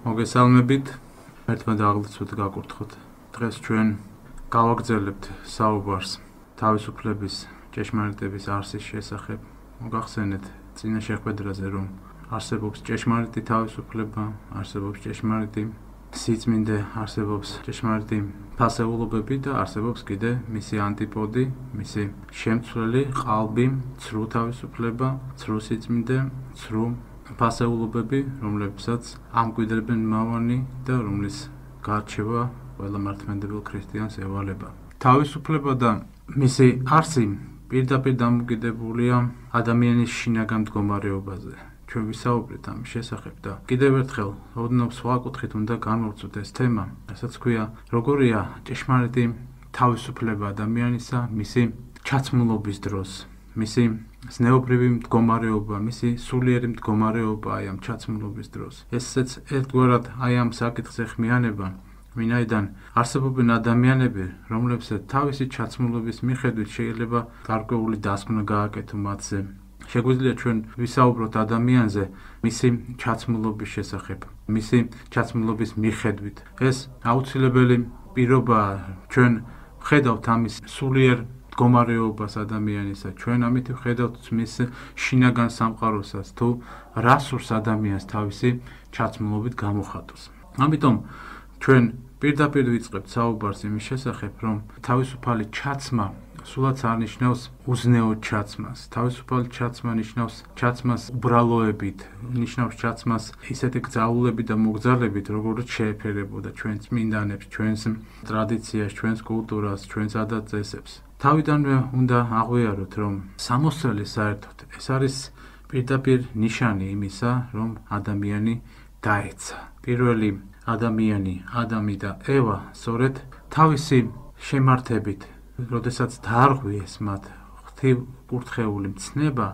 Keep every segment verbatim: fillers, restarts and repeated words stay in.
მოგესალმებით, ერთმა დაღლიცოთ გაკურთხოთ. დღეს ჩვენ გავაგრძელებთ საუბარს თავისუფლების ჭეშმარიტების არსის შესახებ. მოგახსენეთ წინა შეხვედრაზე, რომ არსებობს ჭეშმარიტი თავისუფლება, არსებობს ჭეშმარიტი სიწმინდე, არსებობს ჭეშმარიტი ფასეულობები და არსებობს კიდე მისი ანტიპოდი, მისი შემცვლელი ყალბი, ცრუ თავისუფლება, ცრუ სიწმინდე, ცრუ ფასეულობები, რომლებსაც ამკვიდრებენ მავანი და რომლის გარჩევა ყველა მართლმადიდებელ ქრისტიანს ევალება. თავისუფლება და მისი არსი პირდაპირ დამოკიდებულია ადამიანის შინაგან მდგომარეობაზე. ჩვენ ვისაუბრეთ ამის შესახებ და კიდევ ერთხელ ოდნავ სხვა კუთხით უნდა განვავრცოთ ეს თემა, რასაც ქვია, როგორია ჭეშმარიტი თავისუფლება ადამიანისა მისი ჩაცმულობის დროს, მისი ზნეობრივი მდგომარეობა, მისი სულიერი მდგომარეობა აი ამ ჩაცმულობის დროს. ესეც ერთგვარად აი ამ საკითხზე ხმიანება, ვინაიდან არსებობენ ადამიანები, რომლებსაც თავისი ჩაცმულობის მიხედვით შეიძლება გარკვეული დასკვნა გააკეთო მათზე. შეგვიძლია ჩვენ ვისაუბროთ ადამიანზე მისი ჩაცმულობის შესახებ, მისი ჩაცმულობის მიხედვით. ეს აუცილებელი პირობაა, ჩვენ ვხედავთ ამის სულიერ მდგომარეობას ადამიანისა, ჩვენ ამით ვხედავთ მის შინაგან სამყაროსაც, თუ რა სურს ადამიანს თავისი ჩაცმულობით გამოხატოს. ამიტომ ჩვენ პირდაპირ ვიწყებთ საუბარს იმის შესახებ, რომ თავისუფალი ჩაცმა სულაც არ ნიშნავს უზნეო ჩაცმას. თავისუფალი ჩაცმა ნიშნავს ჩაცმას უბრალოებით, ნიშნავს ჩაცმას ისეთი გზაულებით და მოგზალებით, როგორც შეეფერებოდა ჩვენ წმინდანებს, ჩვენს ტრადიციას, ჩვენს კულტურას, ჩვენს ადათ-წესებს. თავიდანვე უნდა აღვიაროთ, რომ სამოსელი საერთოდ ეს არის პირდაპირ ნიშანი იმისა, რომ ადამიანი დაეცა. პირველი ადამიანი, ადამი და ევა, სწორედ თავისი შემართებით, როდესაც დაარღვიეს მათ ღვთივკურთხეული მცნება,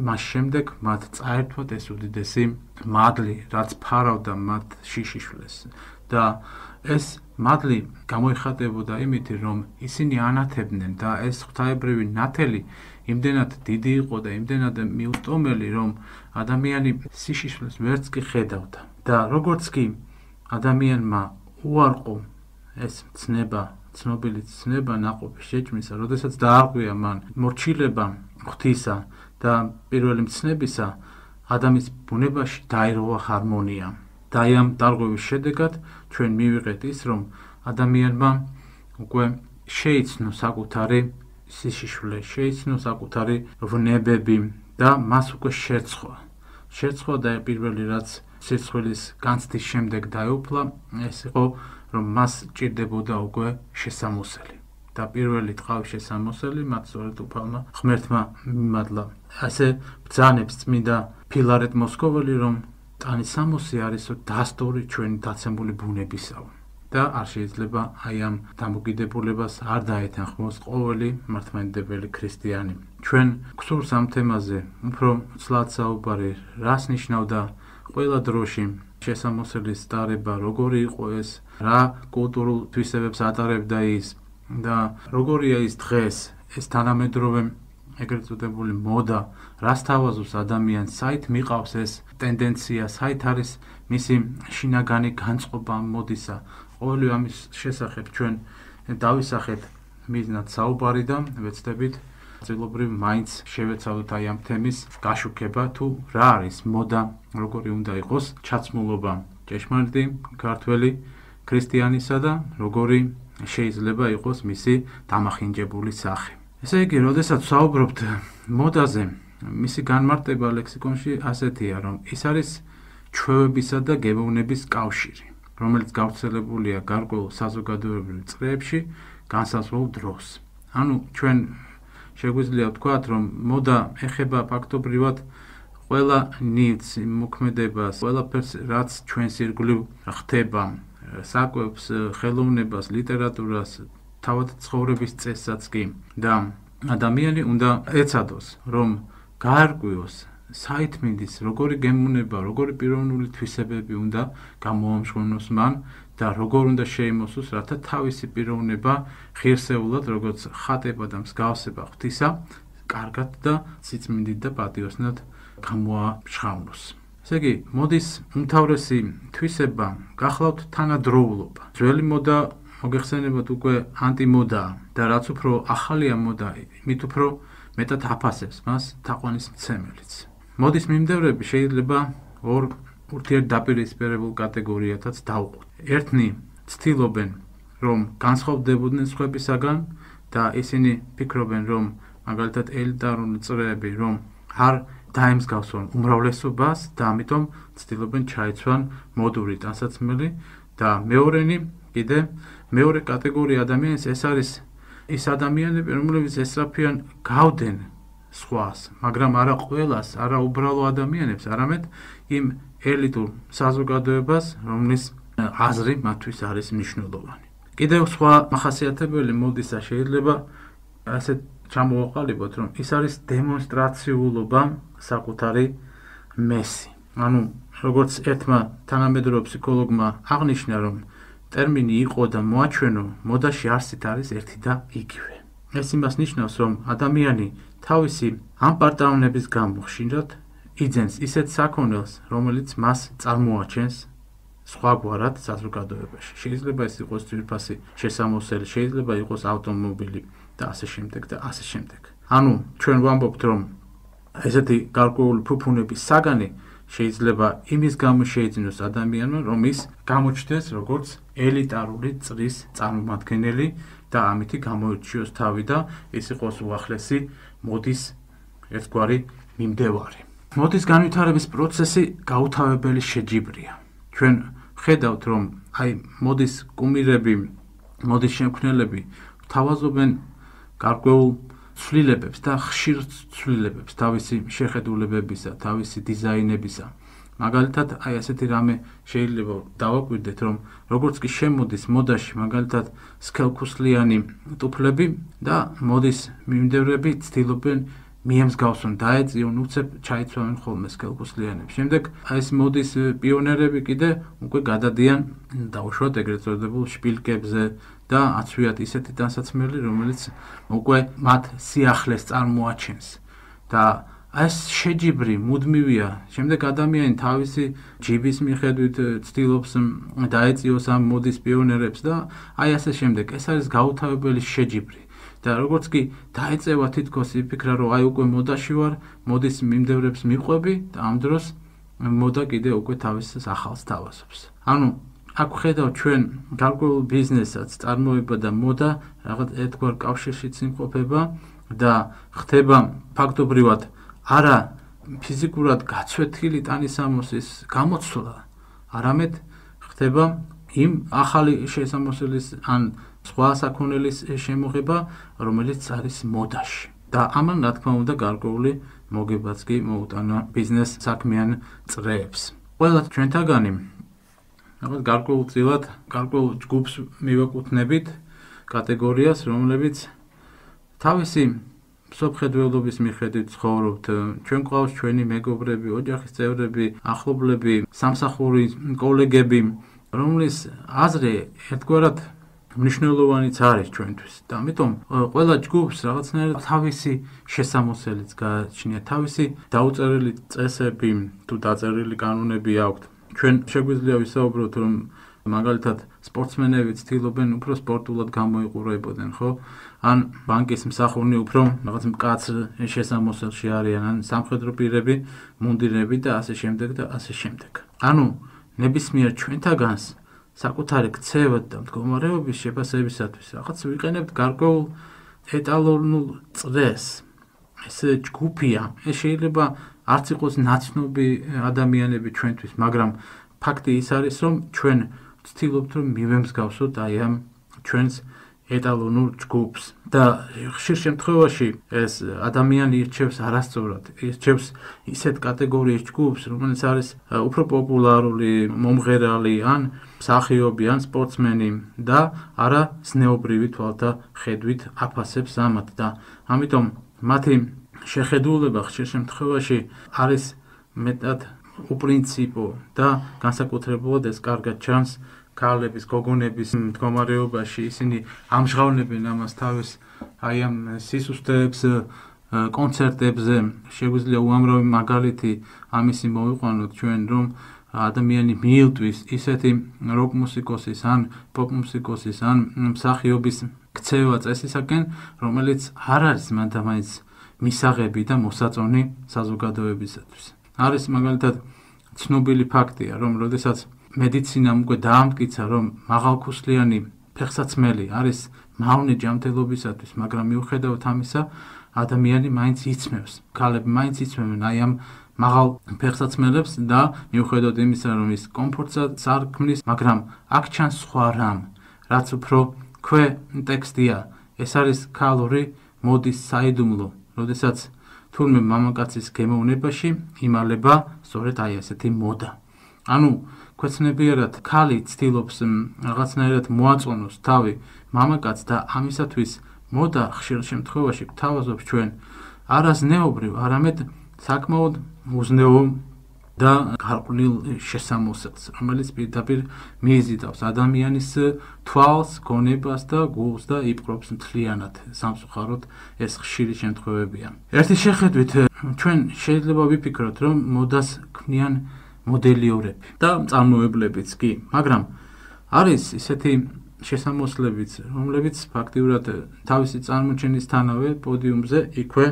მას შემდეგ მათ წაერთვათ ეს უდიდესი მადლი, რაც ფარავდა მათ შიშიშვლეს. და ეს მადლი გამოიხატებოდა იმით, რომ ისინი ანათებდნენ და ეს ღვთაებრივი ნათელი იმდენად დიდი იყო და იმდენად მიუსტომელი, რომ ადამიანი სიშიშვლეს ვერც კი ხედავდა. და როგორც კი ადამიანმა უარყო ეს ცნება, ცნობილი ცნება ნაყოფის შეჭმისა, როდესაც დაარღვია მან მორჩილება ღვთისა და პირველი მცნებისა, ადამიანის ბუნებაში დაირღვა ჰარმონია. და აი ამ დარღვევის შედეგად ჩვენ მივიღეთ ის, რომ ადამიანმა უკვე შეიცნო საკუთარი სიშიშვლე, შეიცნო საკუთარი ვნებები და მას უკვე შერცხვა. შერცხვა და პირველი რაც სირცხვილის განცდის შემდეგ დაეუფლა, ეს იყო, რომ მას ჭირდებოდა უკვე შესამოსელი. და პირველი ტყავის შესამოსელი მათ სწორედ უფალმა ღმერთმა მიმადლა. ასე ბრძანებს წმინდა ფილარეტ მოსკოველი, რომ ტანისამოსი არისო დასტური ჩვენი დაცემული ბუნებისაო. და არ შეიძლება აი ამ დამოკიდებულებას არ დაეთანხმოს ყოველი მართლმადიდებელი ქრისტიანი. ჩვენ გვსურს ამ თემაზე უფრო ცლად საუბარი, რას ნიშნავდა ყველა დროში შესამოსელის ტარება, როგორი იყო ეს, რა კულტურულ თვისებებს ატარებდა ის და როგორია ის დღეს, ეს თანამედროვე ეგრეთ წოდებული მოდა, რას თავაზობს ადამიანს, საით მიყავს ეს ტენდენცია, საით არის მისი შინაგანი განწყობა ამ მოდისა. ყოველი ამის შესახებ ჩვენ დავისახეთ მიზნად საუბარი და ვეცდებით წილობრივ მაინც შევეცადოთ აი ამ თემის გაშუქება, თუ რა არის მოდა, როგორი უნდა იყოს ჩაცმულობა ჭეშმარიტი ქართველი ქრისტიანისა და როგორი შეიძლება იყოს მისი დამახინჯებული სახე. ესე იგი, როდესაც ვსაუბრობთ მოდაზე, მისი განმარტება ლექსიკონში ასეთია, რომ ის არის ჩვევებისა და გემოვნების კავშირი, რომელიც გავრცელებულია გარკვეულ საზოგადოებრივ წრეებში განსაზღვრულ დროს. ანუ ჩვენ შეგვიძლია ვთქვათ, რომ მოდა ეხება ფაქტობრივად ყველა ნივთს, მოქმედებას, ყველაფერს, რაც ჩვენს ირგვლივ ხდება, საკვებს, ხელოვნებას, ლიტერატურას, თავად ცხოვრების წესსაც კი. და ადამიანი უნდა ეცადოს, რომ გაარკვიოს, საით მინდის, როგორი გემოვნება, როგორი პიროვნული თვისებები უნდა გამოამშვენოს მან და როგორ უნდა შეიმოსოს, რათა თავისი პიროვნება ღირსეულად, როგორც ხატება და მსგავსება ღვთისა, კარგად და სიწმინდით და პატიოსნად გამოამშხავნოს. ესე იგი, მოდის უმთავრესი თვისება გახლავთ თანადროულობა. ძველი მოდა მოგეხსენებათ უკვე ანტიმოდაა და რაც უფრო ახალია მოდა, მით უფრო მეტად აფასებს მას თაყვანის მცემელიც. მოდის მიმდევრები შეიძლება ორ ურთიერთდაპირისპირებულ კატეგორიათაც დავყოთ. ერთნი ცდილობენ, რომ განსხვავდებოდნენ სხვებისაგან და ისინი ფიქრობენ, რომ მაგალითად ელიტარული წრეები, რომ არ დაემსგავსონ უმრავლესობას და ამიტომ ცდილობენ ჩაეცვან მოდური ტანსაცმელი და მეორენი კიდე მეორე კატეგორია ადამიანის ეს არის ის ადამიანები, რომლებიც ესწრაფიან გავდენ სხვას, მაგრამ არა ყველას, არა უბრალო ადამიანებს, არამედ იმ ელიტურ საზოგადოებას, რომლის აზრი მათთვის არის მნიშვნელოვანი. კიდევ სხვა მახასიათებელი მოდისა შეიძლება ასეთ ჩამოვაყალიბოთ, რომ ის არის დემონსტრაციულობა საკუთარი მესი. ანუ როგორც ერთმა თანამედროვე ფსიქოლოგმა აღნიშნა, რომ ტერმინი იყო და მოაჩვენო, მოდაში არსით არის ერთი და იგივე. ეს იმას ნიშნავს, რომ ადამიანი თავისი ამ პარტავნების გამო ხშირად იძენს ისეთ საქონელს, რომელიც მას წარმოაჩენს სხვაგვარად საზოგადოებაში. შეიძლება ეს იყოს ძვირფასი შესამოსელი, შეიძლება იყოს ავტომობილი და ასე შემდეგ და ასე შემდეგ. ანუ ჩვენ ვამბობთ, რომ ესეთი გარკვეული ფუფუნების საგანი შეიძლება იმის გამო შეიძინოს ადამიანმა, რომ ის გამოჩნდეს როგორც ელიტარული წრის წარმომადგენელი და ამითი გამოირჩიოს თავი და ის იყოს უახლესი მოდის ერთგვარი მიმდევარი. მოდის განვითარების პროცესი გაუთავებელი შეჯიბრია. ჩვენ ხედავთ, რომ აი მოდის კუმირები, მოდის შემქმნელები თავაზობენ გარკვეულ ცვლილებებს და ხშირ ცვლილებებს თავისი შეხედულებებისა, თავისი დიზაინებისა. მაგალითად, აი ასეთი რამე შეიძლება დავაკვირდეთ, რომ როგორც კი შემოდის მოდაში, მაგალითად, სქელქუსლიანი ტუფლები და მოდის მიმდევრები ცდილობენ მიემსგავსონ, დაეწიონ, უცებ ჩაიცვამენ ხოლმე სქელქუსლიანებს. შემდეგ აი ეს მოდის პიონერები კიდე უკვე გადადიან დაუშვათ ეგრეთ წოდებულ შპილკებზე და აცვიათ ისეთი ტანსაცმელი, რომელიც უკვე მათ სიახლეს წარმოაჩენს. და ეს შეჯიბრი მუდმივია. შემდეგ ადამიანი თავისი ჯიბის მიხედვით ცდილობს დაეწიოს ამ მოდის პიონერებს და აი ასე შემდეგ. ეს არის გაუთავებელი შეჯიბრი. და როგორც კი დაეწევა თითქოს იფიქრა, რომ აი უკვე მოდაში ვარ, მოდის მიმდევრებს მიყვები და ამ დროს მოდა კიდე უკვე თავის ახალს თავაზობს. ანუ აქ ხედავ ჩვენ გარკვეულ ბიზნესაც წარმოება და მოდა რაღაც ერთგვარ კავშირშიც იმყოფება და ხდება ფაქტობრივად არა ფიზიკურად გაცვეთილი ტანისამოსის გამოცვლა, არამედ ხდება იმ ახალი შესამოსელის ან სხვა საქონელის შემოღება, რომელიც არის მოდაში. და ამან რა თქმა უნდა გარკვეული მოგებაც კი მოუტანა ბიზნეს საქმიან წრეებს. ყველა ჩვენთაგანი რაღაც გარკვეულწილად გარკვეულ ჯგუფს მივაკუთვნებით კატეგორიას, რომლებიც თავისი მსოფლმხედველობის მიხედვით ცხოვრობთ. ჩვენ გვყავს ჩვენი მეგობრები, ოჯახის წევრები, ახლობლები, სამსახურის კოლეგები, რომლის აზრი ერთგვარად მნიშვნელოვანიც არის ჩვენთვის. და ამიტომ ყველა ჯგუფს რაღაცნაირად თავისი შესამოსელიც გააჩნია, თავისი დაუწერელი წესები თუ დაწერილი კანონები აქვთ. ჩვენ შეგვიძლია ვისაუბროთ, რომ მაგალითად სპორტსმენები ცდილობენ უფრო სპორტულად გამოიყურებოდნენ, ხო? ან ბანკის მსახურნი უფრო რაღაც მკაცრ შესამოსელში არიან, ან სამხედრო პირები, მუნდირები და ასე შემდეგ და ასე შემდეგ. ანუ ნებისმიერ ჩვენთაგანს საკუთარი ქცევა და მდგომარეობის შეფასებისათვის რაღაც ვიყენებთ გარკვეულ ეტალონულ წრეს. ეს ჯგუფია, ეს შეიძლება არც იყოს ნაცნობი ადამიანები ჩვენთვის, მაგრამ ფაქტი ის არის, რომ ჩვენ ვცდილობთ, რომ მივემსგავსოთ აი ამ ჩვენს ეტალონურ ჯგუფს და ხშირ შემთხვევაში ეს ადამიანი ირჩევს არასწორად, ირჩევს ისეთ კატეგორიის ჯგუფს, რომელიც არის უფრო პოპულარული, მომღერალი ან მსახიობი ან სპორტსმენი და არა ზნეობრივი თვალთა ხედვით აფასებს ამათ და ამიტომ მათი შეხედულება ხშირ შემთხვევაში არის მეტად უპრინციპო და განსაკუთრებულად ეს კარგად ჩანს ქალების, გოგონების მდგომარეობაში. ისინი ამჟღავნებენ ამას თავის აი ამ სისუსტეებს, კონცერტებზე შეგვიძლია უამრავი მაგალითი ამისი მოვიყვანოთ ჩვენ, რომ ადამიანი მიილტვის ისეთი როკ მუსიკოსის ან პოპ მუსიკოსის ან მსახიობის ქცევა წესისაკენ, რომელიც არ არის მანდამაინც მისაღები და მოსაწონი საზოგადოებისათვის. არის მაგალითად ცნობილი ფაქტია, რომ როდესაც მედიცინამ უკვე დაამტკიცა, რომ მაღალქუსლიანი ფეხსაცმელი არის მავნე ჯანმრთელობისათვის, მაგრამ მიუხედავად ამისა, ადამიანი მაინც იცმევს. ქალები მაინც იცმევენ აი ამ მაღალ ფეხსაცმელებს და მიუხედავად იმისა, რომ ის კომფორტსაც არ ქმნის, მაგრამ აქ ჩანს სხვა რამ, რაც უფრო ქვე ტექსტია. ეს არის ქალური მოდის საიდუმლო, როდესაც თურმე მამაკაცის გემოვნებაში იმალება სწორედ აი ასეთი მოდა. ანუ ქვეცნებიერად ქალი ცდილობს რაღაცნაირად მოაწონოს თავი მამაკაცს და ამისათვის მოდა ხშირ შემთხვევაში გვთავაზობს ჩვენ არაზნეობრივ, არამედ საკმაოდ უზნეო და გარყვნილ შესამოსელს, რომელიც პირდაპირ მიიზიდავს ადამიანის თვალს, გონებას და გულს და იპყრობს მთლიანად. სამწუხაროდ ეს ხშირი შემთხვევებია. ერთი შეხედვით ჩვენ შეიძლება ვიფიქროთ, რომ მოდას ქმნიან მოდელიორები და წარმოებლებიც კი, მაგრამ არის ისეთი შესამოსლებიც, რომლებიც ფაქტიურად თავისი წარმოჩენისთანავე პოდიუმზე იქვე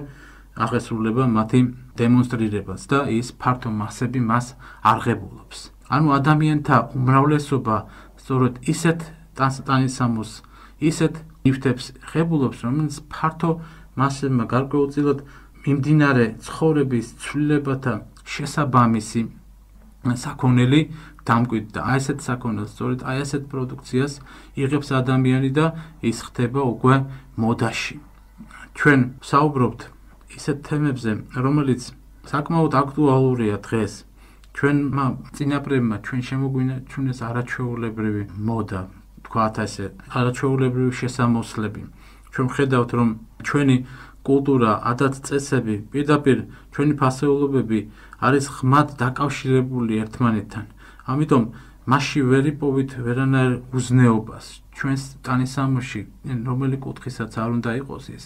აღესრულება მათი დემონსტრირებას და ის ფართო მასები მას არღებულობს. ანუ ადამიანთა უმრავლესობა სწორედ ისეთ ტანსამოს, ისეთ ნივთებს ღებულობს, რომელიც ფართო მასებმა გარკვეულწილად მიმდინარე ცხოვრების ცვლილებათა შესაბამისი საქონელი დამკვიდრდა. აი ესეთ საქონელს, სწორედ აი ესეთ პროდუქციას იღებს ადამიანი და ის ხდება უკვე მოდაში. ჩვენ ვსაუბრობთ ისეთ თემებზე, რომელიც საკმაოდ აქტუალურია დღეს. ჩვენმა წინაპრებმა ჩვენ შემოგვინარჩუნეს არაჩვეულებრივი მოდა, თქვათ ასე, არაჩვეულებრივი შესამოსლები. ჩვენ ვხედავთ, რომ ჩვენი კულტურა, ადათ-წესები, პირდაპირ ჩვენი ფასეულობები არის ხმად დაკავშირებული ერთმანეთთან. ამიტომ მასში ვერ იპოვით ვერანაირ უზნეობას. ჩვენს ტანისამოში, რომელი კუთხისაც არ უნდა იყოს ის,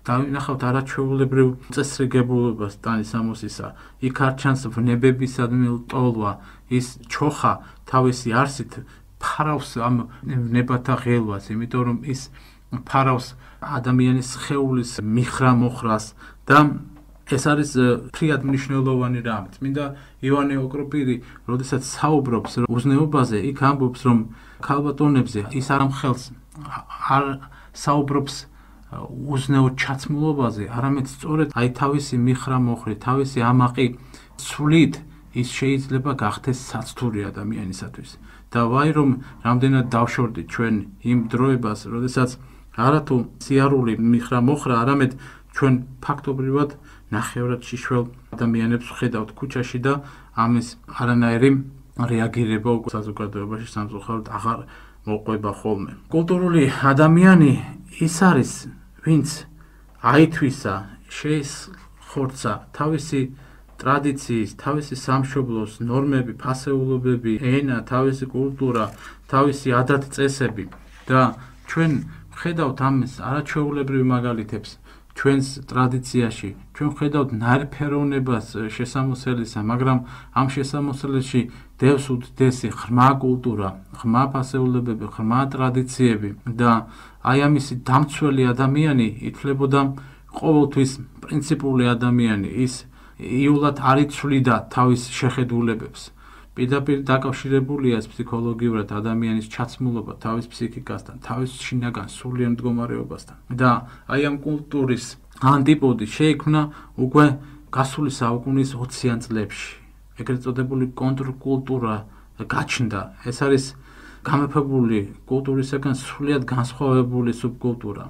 დავინახავთ არაჩვეულებრივ წესრიგებულობას ტანისამოსისა. იქ არ ჩანს ვნებებისადმი ლტოლვა, ის ჩოხა თავისი არსით ფარავს ამ ვნებათა ღელვას, იმიტომ რომ ის ფარავს ადამიანის სხეულის მიხრა-მოხრას და ეს არის ფრიად მნიშვნელოვანი რამ. წმინდა იოანე ოქროპირი, როდესაც საუბრობს უზნეობაზე, იქ ამბობს, რომ ქალბატონებზე ის არ ამხელს, არ საუბრობს უზნეო ჩაცმულობაზე, არამედ სწორედ აი თავისი მიხრა-მოხრი, თავისი ამაყი სვლით ის შეიძლება გახდეს საცდური ადამიანისათვის. და ვაი რომ რამდენად დავშორდით ჩვენ იმ დროებას, როდესაც არათუ სიარული მიხრა-მოხრა, არამედ ჩვენ ფაქტობრივად ნახევრად შიშველ ადამიანებს ვხედავთ ქუჩაში და ამის არანაირი რეაგირება უკვე საზოგადოებაში სამწუხაროდ აღარ მოყვება ხოლმე. კულტურული ადამიანი ის არის, ვინც აითვისა, შეისხორცა თავისი ტრადიციის, თავისი სამშობლოს ნორმები, ფასეულობები, ენა, თავისი კულტურა, თავისი ადათ-წესები და ჩვენ ვხედავთ ამის არაჩვეულებრივ მაგალითებს ჩვენს ტრადიციაში. ჩვენ ვხედავთ ნაირფეროვნებას შესამოსელისა, მაგრამ ამ შესამოსელში დევს უდიდესი ღრმა კულტურა, ღრმა ფასეულებები, ღრმა ტრადიციები და აი ამისი დამცველი ადამიანი ითვლებოდა ყოველთვის პრინციპული ადამიანი, ის იულად არ იცვლიდა თავის შეხედულებებს. პირდაპირ დაკავშირებულია ფსიქოლოგიურად ადამიანის ჩაცმულობა თავის ფსიქიკასთან, თავის შინაგან სულიერ მდგომარეობასთან. და აი ამ კულტურის ანტიპოდი შეიქმნა უკვე გასული საუკუნის ოციან წლებში. ეგრეთ წოდებული კონტრკულტურა გაჩნდა. ეს არის გამეფებული კულტურისაგან სრულიად განსხვავებული სუბკულტურა,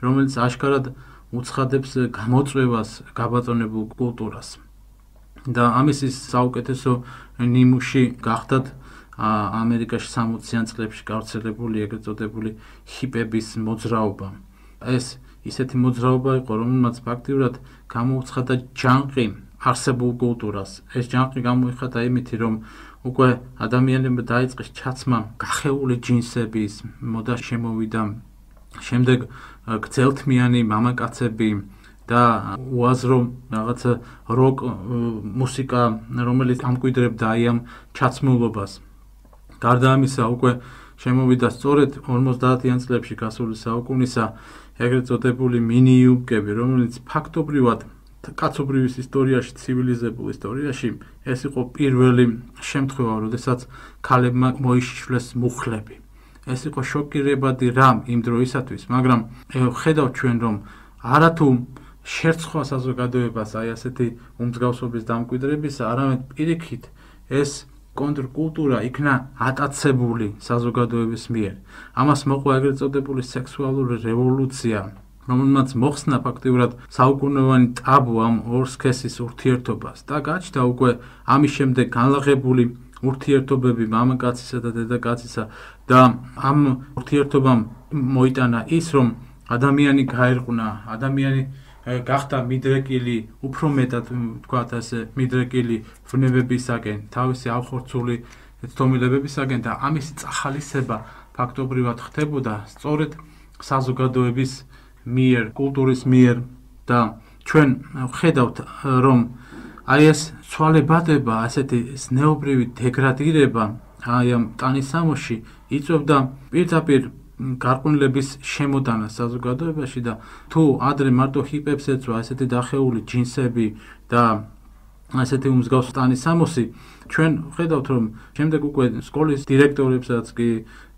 რომელიც აშკარად უცხადებს გამოწვევას გაბატონებულ კულტურას. და ამის ის საუკეთესო ნიმუში გახდათ ამერიკაში სამოციან წლებში გავრცელებული ეგრეთ წოდებული ჰიპების მოძრაობა. ეს ისეთი მოძრაობა იყო, რომელმაც ფაქტიურად გამოუცხადა ჯანყი არსებულ კულტურას. ეს ჯანყი გამოიხადა იმით, რომ უკვე ადამიანებმა დაიწყეს ჩაცმა გახეული ჯინსების მოდა შემოვიდა, შემდეგ გრძელთმიანი მამაკაცები და უაზრო რაღაცა როკ მუსიკა, რომელიც ამკვიდრებდა აი ამ ჩაცმულობას. გარდა ამისა, უკვე შემოვიდა სწორედ ორმოცდაათიან წლებში გასული საუკუნისა ეგრეთ წოდებული მინიიუბკები, რომელიც ფაქტობრივად კაცობრიობის ისტორიაში, ცივილიზებულ ისტორიაში ეს იყო პირველი შემთხვევა, როდესაც ქალებმა მოიშიშვლეს მუხლები. ეს იყო შოკირებადი რამ იმ დროისათვის, მაგრამ ხედავთ ჩვენ, რომ არათუ შერწყვა საზოგადოებას აი ასეთი უმსგავსობის დამკვიდრებისა, არამედ პირიქით ეს კონტრკულტურა იქნა ატაცებული საზოგადოების მიერ. ამას მოყვა ეგრეთ წოდებული სექსუალური რევოლუცია, რომელმაც მოხსნა ფაქტიურად საუკუნოვანი ტაბუ ამ ორ სქესის ურთიერთობას და გაჩნდა უკვე ამის შემდეგ განლაღებული ურთიერთობები მამაკაცისა და დედაკაცისა და ამ ურთიერთობამ მოიტანა ის, რომ ადამიანი გაერყნა, ადამიანი გახდა მიდრეკილი, უფრო მეტად ვთქვათ ასე, მიდრეკილი ვნებებისაკენ, თავისი ავხორცული ცდომილებებისაკენ და ამისი წახალისება ფაქტობრივად ხდებოდა სწორედ საზოგადოების მიერ, კულტურის მიერ და ჩვენ ვხედავთ, რომ აი ეს ცვალებადება, ასეთი ზნეობრივი დეგრადირება აი ამ ტანისამოსში იწვევდა პირდაპირ გარყვნილების შემოდანას საზოგადოებაში და თუ ადრე მარტო ჰიპებს ეწვა ესეთი დახეული ჯინსები და ასეთი უმსგავსი ტანისამოსი, ჩვენ ვხედავთ, რომ შემდეგ უკვე სკოლის დირექტორებსაც კი,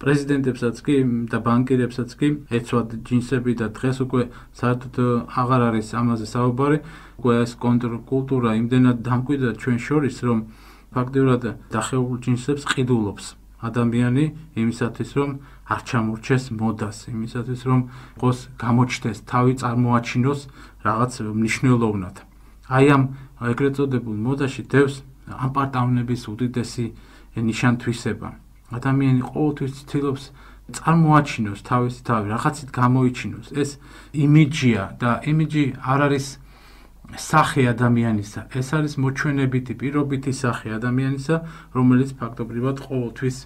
პრეზიდენტებსაც კი და ბანკირებსაც კი ეწვათ ჯინსები და დღეს უკვე საერთოდ აღარ არის ამაზე საუბარი. უკვე ეს კონტრკულტურა იმდენად დამკვიდრდა ჩვენ შორის, რომ ფაქტიურად დახეულ ჯინსებს ყიდულობს ადამიანი იმისათვის, რომ არ ჩამორჩეს მოდას, იმისათვის, რომ ყოს გამოჩნდეს, თავი წარმოაჩინოს რაღაც მნიშვნელოვნად. აი ამ ეგრეთ წოდებულ მოდაში დევს ამპარტავნების უდიდესი ნიშანთვისება. ადამიანი ყოველთვის ცდილობს წარმოაჩინოს თავისი თავი, რაღაცით გამოიჩინოს. ეს იმიჯია და იმიჯი არ არის სახე ადამიანისა, ეს არის მოჩვენებითი, პირობითი სახე ადამიანისა, რომელიც ფაქტობრივად ყოველთვის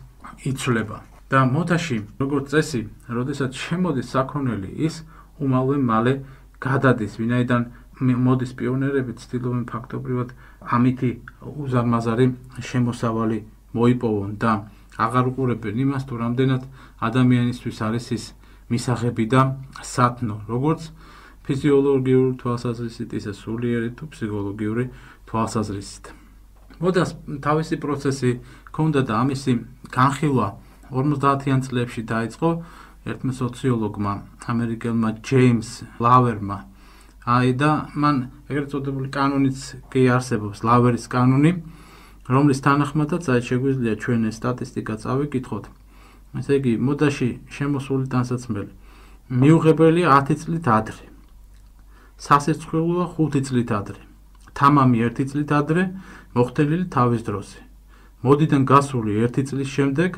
იცვლება. და მოდაში, როგორც წესი, როდესაც შემოდის საქონელი, ის უმალვე მალე გადადის, ვინაიდან მოდის პიონერები ცდილობენ ფაქტობრივად ამითი უზარმაზარი შემოსავალი მოიპოვონ და აღარ უყურებენ იმას, თუ რამდენად ადამიანისთვის არის ის მისაღები და სათნო, როგორც ფიზიოლოგიური თვალსაზრისით, ისე სულიერი თუ ფსიქოლოგიური თვალსაზრისით. მოდას თავისი პროცესი ჰქონდა და ამისი განხილვა ორმოცდაათიან წლებში დაიწყო ერთმა სოციოლოგმა, ამერიკელმა ჯეიმს ლავერმა. აი და მან ეგრეთ წოდებული კანონიც კი არსებობს, ლავერის კანონი, რომლის თანახმადაც აი შეგვიძლია ჩვენ ეს სტატისტიკა წავიკითხოთ. ესე იგი, მოდაში შემოსული ტანსაცმელი მიუღებელია ათი წლით ადრე. სასირცხვილოა ხუთი წლით ადრე. თამამი ერთი წლით ადრე, მოხდენილი თავის დროზე. მოდიდან გასული ერთი წლის შემდეგ,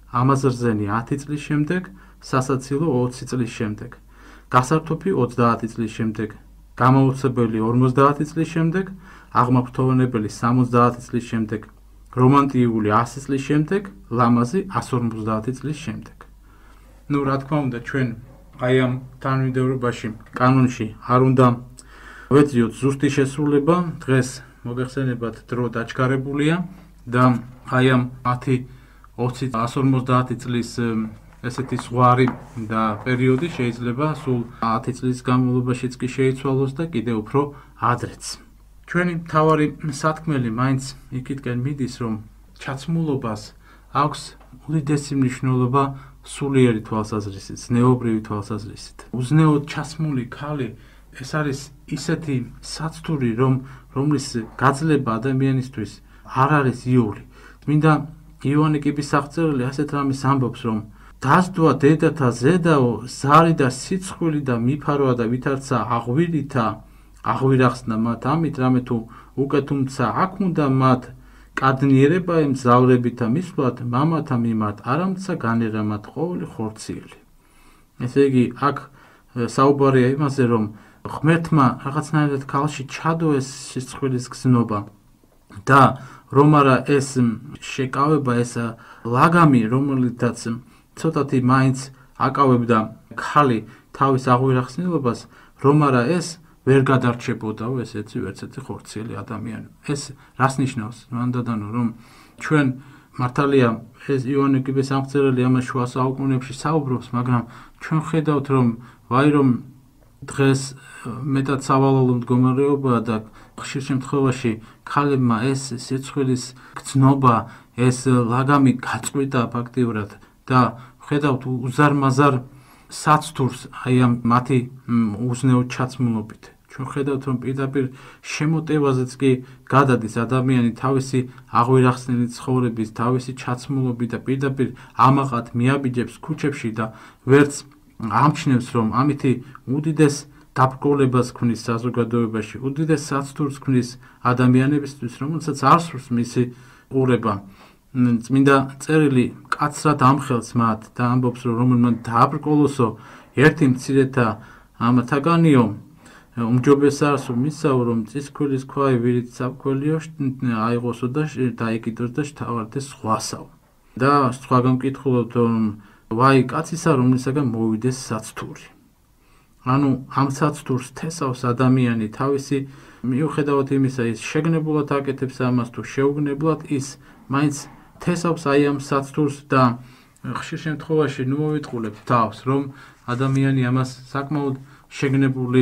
ამაზრზენი ათი წლის შემდეგ, სასაცილო ოცი წლის შემდეგ, გასართოფი ოცდაათი წლის შემდეგ, გამოუცებელი ორმოცდაათი წლის შემდეგ, აღმაფრთოვანებელი სამოცდაათი წლის შემდეგ, რომანტიული ასი წლის შემდეგ, ლამაზი ასი ორმოცდაათი წლის შემდეგ. ნუ რა თქმა უნდა, ჩვენ აი ამ თანმიმდევრობაში, კანონში არ უნდა ვეძიოთ ზუსტი შესრულება, დღეს მოგეხსენებათ დრო დაჩქარებულია და აი ამ ათი ოცი ასი ორმოცდაათი წლის ესეთი ზღვარი და პერიოდი შეიძლება სულ ათი წლის განმავლობაშიც კი შეიცვალოს და კიდევ უფრო ადრეც. ჩვენი მთავარი სათქმელი მაინც იქითკენ მიდის, რომ ჩაცმულობას აქვს უდიდესი მნიშვნელობა სულიერი თვალსაზრისით, ზნეობრივი თვალსაზრისით. უზნეოდ ჩაცმული ქალი ეს არის ისეთი საცდური, რომ რომლის გაძლება ადამიანისთვის არ არის იული. წმინდა იოანე კიბისაღწეველი ასეთ რამეს ამბობს, რომ დასდვა დედათა ზედაო, ზარი და სიცხვილი და მიფარვა და ვითარცა აღვირითა, აღვირახსნა მათ ამით, რამე თუ უკვე თუმცა აქ უნდა მათ კადნიერება ემგზავრებითა მისვლად, მამათა მიმართ არამცა განერა მათ ყოველი ხორციელი. ესე იგი, აქ საუბარია იმაზე, რომ ღმერთმა რაღაცნაირად ქალში ჩადო ეს სიცხვილის გზნობა და რომ არა ეს შეკავება, ეს ლაგამი, რომელიცაც ცოტათი მაინც აკავებდა ქალი თავის აღვირახსნილობას, რომ არა ეს ვერ გადარჩებოდაო ესეთი ვერცერთი ხორციელი ადამიანი. ეს რას ნიშნავს? მანდადანო რომ ჩვენ მართალია ეს იოანე კიბეს-ამღწეველი ამას შუა საუკუნეებში საუბრობს, მაგრამ ჩვენ ხედავთ რომ ვაი რომ დღეს მეტად სავალალო მდგომარეობაა და ხშირ შემთხვევაში ქალებმა ეს სიცხვილის გრძნობა, ეს ლაგამი გაწყვიტა ფაქტიურად და ხედავთ უზარმაზარ საცდურს აი ამ მათი უზნეო ჩაცმულობით. ჩვენ ხედავთ რომ პირდაპირ შემოტევაზეც კი გადადის ადამიანი თავისი აღვირახსნილი ცხოვრების, თავისი ჩაცმულობით და პირდაპირ ამაყად მიაბიჯებს ქუჩებში და ვერც ამჩნევს რომ ამითი უდიდეს დაბრკოლებას ქმნის საზოგადოებაში, უდიდეს საცდურს ქმნის ადამიანებისთვის, რომელსაც არ სურს მისი ყურება. წმინდა წერილი მკაცრად ამხელს მათ და ამბობს რომ რომელმან დააბრკოლოსო ერთი მცირეთა ამათაგანიო უმჯობესაა მისაო რომ წისქვილის ქვაი ვირით საფქველიო აიღოსო და დაიკიდოს და შთავარდეს სხვასაო. და სხვა გამკითხულობთ რომ ვაი კაცისა რომლისაგან მოვიდეს საცდური. ანუ ამ საცდურს თესავს ადამიანი თავისი მიუხედავად იმისა ის შეგნებულად აკეთებს ამას თუ შეუგნებლად ის მაინც თესავს აი ამ საცდურს და ხშირ შემთხვევაში ნუ მოვიტყულებთ თავს რომ ადამიანი ამას საკმაოდ შეგნებული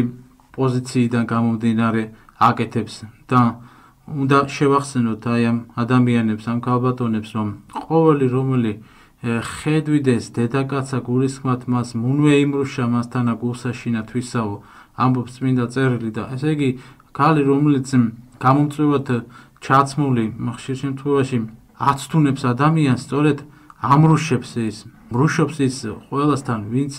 პოზიციიდან გამომდინარე აკეთებს და უნდა შევახსენოთ აი ამ ადამიანებს, ამ ქალბატონებს რომ ყოველი რომელი ხედვიდეს დედაკაცა გულისხმად მას მუნვე იმრუშა მასთანა გულსაშინა თვისაო ამბობს წმინდა წერილი და ესე იგი ქალი რომელიც გამომწვევად ჩაცმული ხშირ შემთხვევაში აცთუნებს ადამიანს სწორედ ამრუშებს ის მრუშობს ის ყველასთან ვინც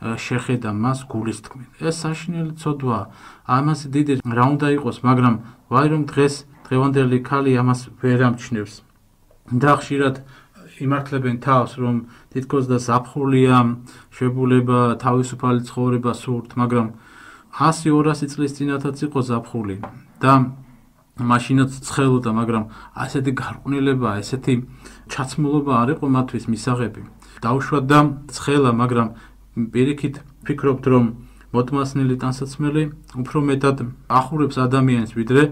შეხედა მას გულის თქმით. ეს საშინელი ცოდვაა. ამას დიდი რა უნდა იყოს, მაგრამ ვაი რომ დღეს დღევანდელი ქალი ამას ვერ ამჩნევს. და ხშირად იმართლებენ თავს რომ თითქოს და ზაფხულია, შებულება, თავისუფალი ცხოვრება სურთ, მაგრამ ასი ორასი წლის წინათაც იყო ზაფხული და მაშინაც ცხელოდა, მაგრამ ასეთი გარყვნილება, ესეთი ჩაცმულობა არ იყო მათთვის მისაღები. დაუშვათ და ცხელა, მაგრამ პირიქით ფიქრობთ რომ მოტმასნილი ტანსაცმელი უფრო მეტად ახურებს ადამიანს ვიდრე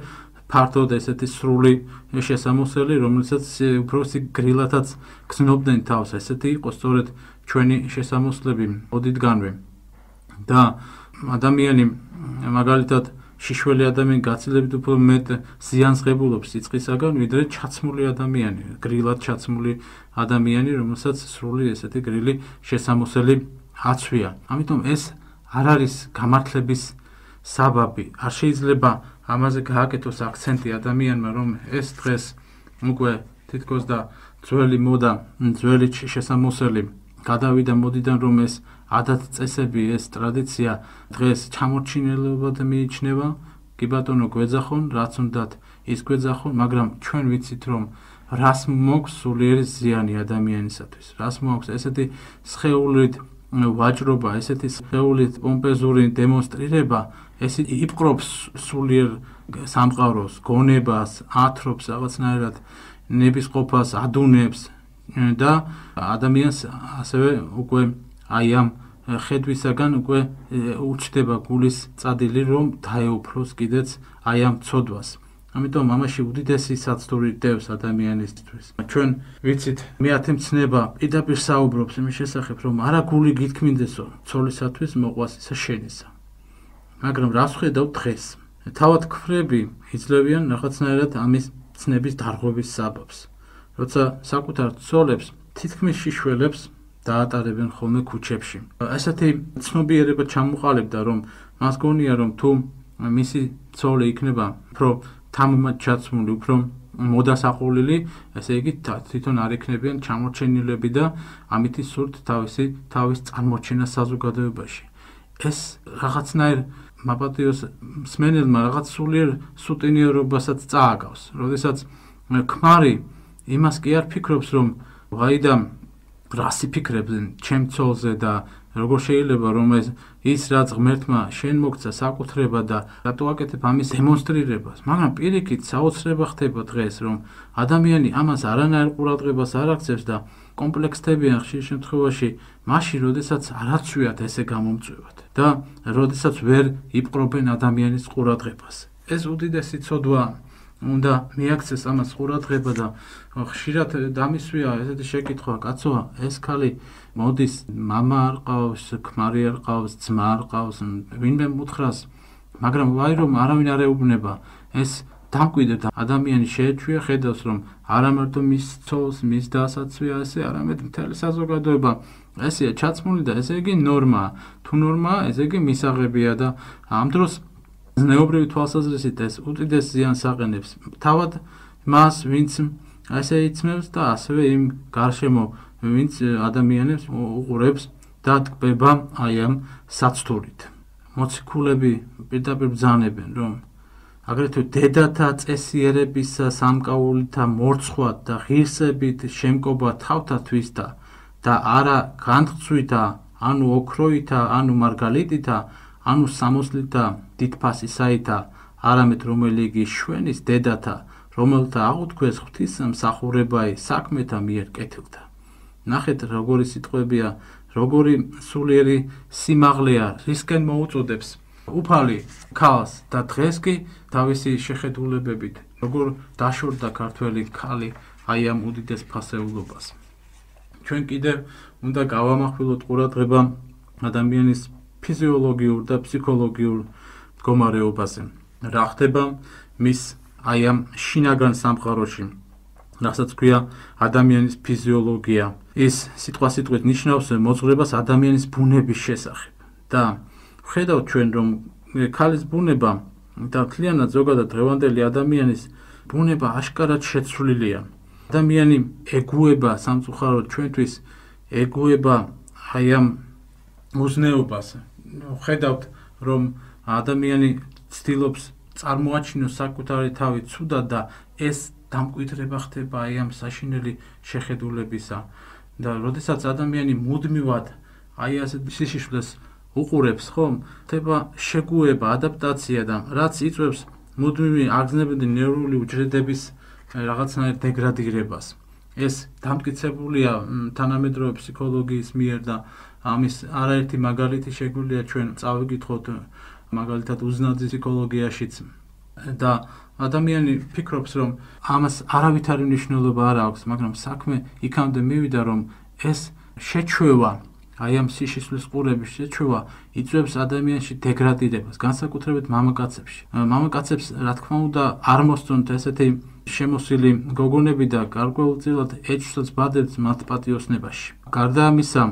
ფართოდ ესეთი სრული შესამოსელი, რომელსაც უფრო გრილათაც გზნობდნენ თავს. ესეთი იყო სწორედ ჩვენი შესამოსლები ოდითგანვე. და ადამიანი მაგალითად შიშველი ადამიანი გაცილებით უფრო მეტ ზიანს ღებულობს სიწყისაგან, ვიდრე ჩაცმული ადამიანი, გრილად ჩაცმული ადამიანი, რომელსაც სრული ესეთი გრილი შესამოსელი აცვია. ამიტომ ეს არ არის გამართლების საბაბი. არ შეიძლება ამაზე გააკეთოს აქცენტი ადამიანმა, რომ ეს დღეს უკვე თითქოს და ძველი მოდა, ძველი შესამოსელი გადავიდა მოდიდან, რომ ეს ადათ წესები, ეს ტრადიცია დღეს ჩამორჩინელებად მიიჩნევა. კი ბატონო, გვეძახონ, რაც უნდათ ის გვეძახონ, მაგრამ ჩვენ ვიცით, რომ რას მოაქვს სულიერი ზიანი ადამიანისათვის. რას მოაქვს ესეთი სხეულით ვაჭრობა, ესეთი სხეულით პომპეზური დემონსტრირება, ეს იპყრობს სულიერ სამყაროს, გონებას, ათრობს რაღაცნაირად ნებისყოფას, ადუნებს და ადამიანს ასევე უკვე აი ამ ხედვისაგან უკვე უჩდება გულის წადილი, რომ დაეუფლოს კიდეც აი ამ ცოდვას. ამიტომ ამაში უდიდესი საცდური დევს ადამიანისთვის. ჩვენ ვიცით, მეათე მცნება პირდაპირ საუბრობს იმის შესახებ, რომ არა გული გითქმინდესო ცოლისათვის მოყვას ისა შენისა. მაგრამ რას ხედავთ დღეს? თავად ქფრები იძლევიან რაღაცნაირად ამის ცნების დარღვევის საბაბს. როცა საკუთარ ცოლებს, თითქმის შიშველებს დაატარებენ ხოლმე ქუჩებში. ესეთი ცნობიერება ჩამოყალიბდა, რომ მას გონია, რომ თუ მისი ცოლი იქნება უფრო თამამად ჩაცმული, უფრო მოდასაყოლილი, ესე იგი თვითონ არ იქნებიან ჩამორჩენილები და ამითი სურთ თავისი თავის წარმოჩენა საზოგადოებაში. ეს რაღაცნაირ მაპატიოს მსმენელმა რაღაც სულიერ სუტენიერობასაც წააგავს. როდესაც ქმარი იმას კი არ ფიქრობს, რომ ვაი და რას იფიქრებენ ჩემ ცოლზე და როგორ შეიძლება რომ ეს ის რაც ღმერთმა შენ მოგცა საკუთრება და რატო აკეთებ ამის დემონსტრირებას, მაგრამ პირიქით საოცრება ხდება დღეს, რომ ადამიანი ამას არანაირ ყურადღებას არ აქცევს და კომპლექსდებიან ხშირ შემთხვევაში მაშინ, როდესაც არ აცვიათ ესე გამომწვევად და როდესაც ვერ იპყრობენ ადამიანის ყურადღებას. ეს უდიდესი ცოდვა უნდა მიაქცეს ამას ყურადღება და ხშირად დამისვია ესეთი შეკითხვა, კაცოა, ეს ქალი მოდის, მამა არ ყავს, ქმარი არ ყავს, ძმა არ ყავს, ვინმე მუთხრას, მაგრამ ვაი რომ არავინ არ ეუბნება, ეს დამკვიდრდა ადამიანი შეეჩვია, ხედავს რომ არა მარტო მის ცოლს, მის დასაცვია ესე, არამედ მთელი საზოგადოება ესეა ჩაცმული და ესე იგი ნორმაა. თუ ნორმაა, ესე იგი მისაღებია და ამ დროს ზნეობრივი თვალსაზრისით ეს უდიდეს ზიანს აყენებს თავად მას, ვინც ესე იცმევს და ასევე იმ გარშემო ვინც ადამიანებს უყურებს და ტკბება აი ამ საცთურით. მოციქულები პირდაპირ ბრძანებენ, რომ აგრეთვე დედათა წესიერებისა სამკაულითა მორცხვად და ღირსებით შემკობა თავთათვისთა და არა განხცვითა, ანუ ოქროითა, ანუ მარგალიტითა, ანუ სამოსლითა დიდფასისაითა, არამედ რომელი იგი შვენის დედათა, რომელთა აღუთქვეს ღვთის მსახურებაი საქმეთა მიერ კეთილთა. ნახეთ, როგორი სიტყვებია, როგორი სულიერი სიმაღლეა, რისკენ მოუწოდებს უფალი ქალს და დღეს კი თავისი შეხედულებებით, როგორ დაშორდა ქართველი ქალი აი ამ უდიდეს ფასეულობას. ჩვენ კიდევ უნდა გავამახვილოთ ყურადღება ადამიანის ფიზიოლოგიურ და ფსიქოლოგიურ მდგომარეობაზე. რა ხდება მის აი ამ შინაგან სამყაროში, რასაც ქვია ადამიანის ფიზიოლოგია. ის სიტყვასიტყვით ნიშნავს მოძღვრებას ადამიანის ბუნების შესახებ. და ხედავთ ჩვენ, რომ ქალის ბუნება და მთლიანად ზოგადად დღევანდელი ადამიანის ბუნება აშკარად შეცვლილია. ადამიანი ეგუება სამწუხაროდ ჩვენთვის ეგუება აი ამ უზნეობას. ხედავთ, რომ ადამიანი ცდილობს წარმოაჩინოს საკუთარი თავი ცუდად და ეს დამკვიდრება ხდება აი ამ საშინელი შეხედულებისა. და როდესაც ადამიანი მუდმივად აი ასეთ სიშიშვლეს უყურებს, ხომ, ხდება შეგუება, ადაპტაცია და რაც იწვევს მუდმივი აგზნებადი ნევრული უჯრედების რაღაცნაირ დეგრადირებას. ეს დამტკიცებულია თანამედროვე ფსიქოლოგიის მიერ და ამის არაერთი მაგალითი შეგვიძლია ჩვენ წავიკითხოთ მაგალითად უზნაძის ფსიქოლოგიაშიც და ადამიანი ფიქრობს, რომ ამას არავითარი მნიშვნელობა არ აქვს, მაგრამ საქმე იქამდე მივიდა, რომ ეს შეჩვევა, აი ამ სიშიშვლის ყურების შეჩვევა იწვევს ადამიანში დეგრადირებას, განსაკუთრებით მამაკაცებში. მამაკაცებს, რა თქმა უნდა, არ მოსწონთ ესეთი შემოსილი გოგონები და გარკვეულწილად ეჭვსაც ბადებთ მათ პატიოსნებაში. გარდა ამისა,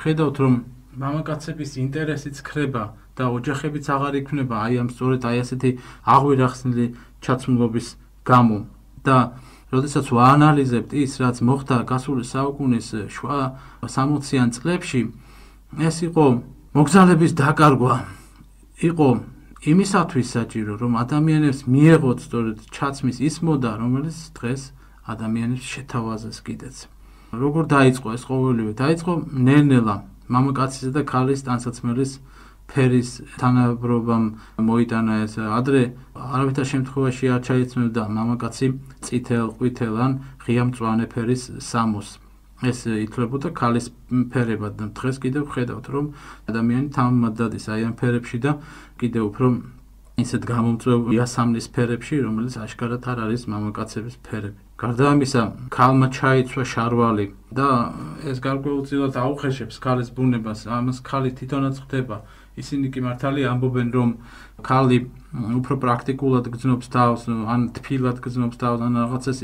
ხედავთ, რომ მამაკაცების ინტერესიც ხრება და ოჯახებიც აღარ იქმნება აი ამ სწორედ აი ასეთი აღვირახსნილი ჩაცმულობის გამო. და როდესაც ვაანალიზებთ ის, რაც მოხდა გასული საუკუნის შუა სამოციან წლებში, ეს იყო მოგზალების დაკარგვა. იყო იმისათვის საჭირო, რომ ადამიანებს მიეღოთ სწორედ ჩაცმის ის მოდა, რომელიც დღეს ადამიანებს შეთავაზეს კიდეც. როგორ დაიწყო ეს ყოველივე? დაიწყო ნელ-ნელა მამაკაცისა და ქალის ტანსაცმელის ფერის თანაბრობამ მოიტანა ეს. ადრე არავითარ შემთხვევაში არ ჩაიცმევდა მამაკაცი წითელ, ყვითელ ან ღია მწვანე ფერის სამოს. ეს ითვლებოდა ქალის ფერებად და დღეს კიდევ ხედავთ, რომ ადამიანი თამამად დადის აი ამ ფერებში და კიდევ უფრო ისეთ გამომწვევ იასამნის ფერებში, რომელიც აშკარად არ არის მამაკაცების ფერები. გარდა ამისა, ქალმა ჩაიცვა შარვალი და ეს გარკვეულწილად აუხეშებს ქალის ბუნებას. ამას ქალი თვითონაც ხდება. ისინი კი მართალია ამბობენ, რომ ქალი უფრო პრაქტიკულად გრძნობს თავს, ან თბილად გრძნობს თავს, ან რაღაცას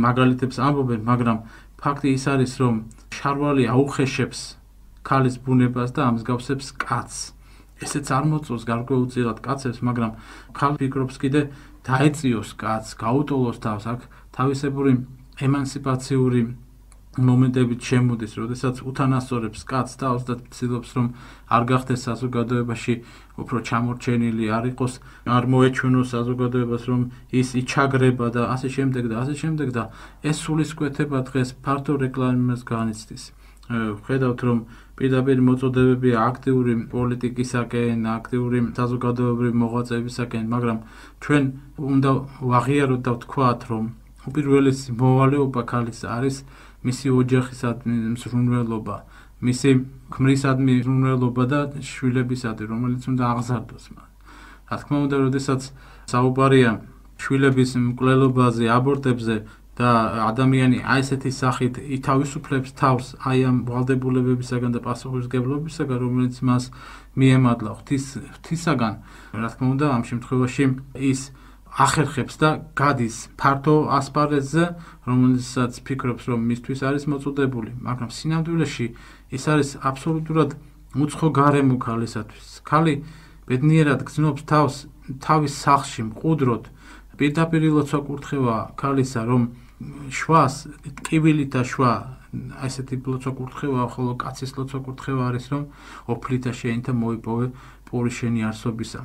მაგალითებს ამბობენ, მაგრამ ფაქტი ის არის, რომ შარვალი აუხეშებს ქალის ბუნებას და ამსგავსებს კაცს. ესეც არ მოწონს გარკვეულწილად კაცებს, მაგრამ ქალი ფიქრობს კიდე დაეწიოს კაცს, გაუტოლოს თავს, აქ თავისებური ემანსიპაციური მომენტებით შემოდის, როდესაც უთანასწორებს კაცს თავს და ცდილობს რომ არ გახდეს საზოგადოებაში უფრო ჩამორჩენილი, არ იყოს, არ მოეჩვენოს საზოგადოებას რომ ის იჩაგრება და ასე შემდეგ და ასე შემდეგ და ეს სულისკვეთება დღეს ფართო რეკლამას განიცდის. ხედავთ რომ პირდაპირ მოწოდებებია აქტიური პოლიტიკისაკენ, აქტიური საზოგადოებრივი მოღვაწეებისაკენ, მაგრამ ჩვენ უნდა ვაღიაროთ და ვთქვათ რომ უპირველესი მოვალეობა ქალის არის მისი ოჯახისადმი მსრულნელობა, მისი ქმრისადმი მსრულნელობა და შვილებისადმი, რომელიც უნდა აღზარდოს მას. რა თქმა უნდა, როდესაც საუბარია შვილების მკვლელობაზე, აბორტებზე და ადამიანი აი ესეთი სახით ითავისუფლებს თავს აი ამ ვალდებულებებისაგან და პასუხისმგებლობისაგან, რომელიც მას მიემადლა ღვთის ღვთისაგან, რა თქმა უნდა, ამ შემთხვევაში ის ახერხებს და გადის ფართო ასპარეზზე, რომელსაც ფიქრობს, რომ მისთვის არის მოწოდებული, მაგრამ სინამდვილეში ის არის აბსოლუტურად უცხო გარემო ქალისათვის. ქალი ბედნიერად გრძნობს თავს თავის სახლში მყუდროდ, პირდაპირ ლოცვა კურთხევა ქალისა, რომ შვას ტკივილით და შვა ასეთი ლოცვა კურთხევა, ხოლო კაცის ლოცვა კურთხევა არის, რომ ოფლით და შეინთა მოიპოვე პური შენი არსობისა.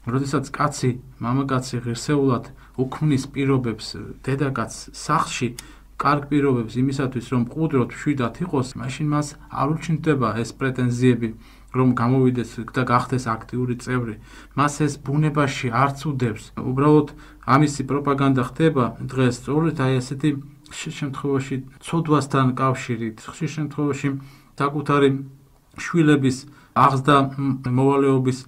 როდესაც კაცი, მამაკაცი ღირსეულად უქმნის პირობებს დედაკაცს სახლში, კარგ პირობებს იმისათვის, რომ მყუდროდ მშვიდად იყოს, მაშინ მას არ უჩნდება ეს პრეტენზიები, რომ გამოვიდეს და გახდეს აქტიური წევრი. მას ეს ბუნებაში არც უდევს. უბრალოდ ამისი პროპაგანდა ხდება დღეს სწორედ აი ესეთი ხშირ შემთხვევაში ცოდვასთან კავშირით, ხშირ შემთხვევაში საკუთარი შვილების აღზრდა მოვალეობის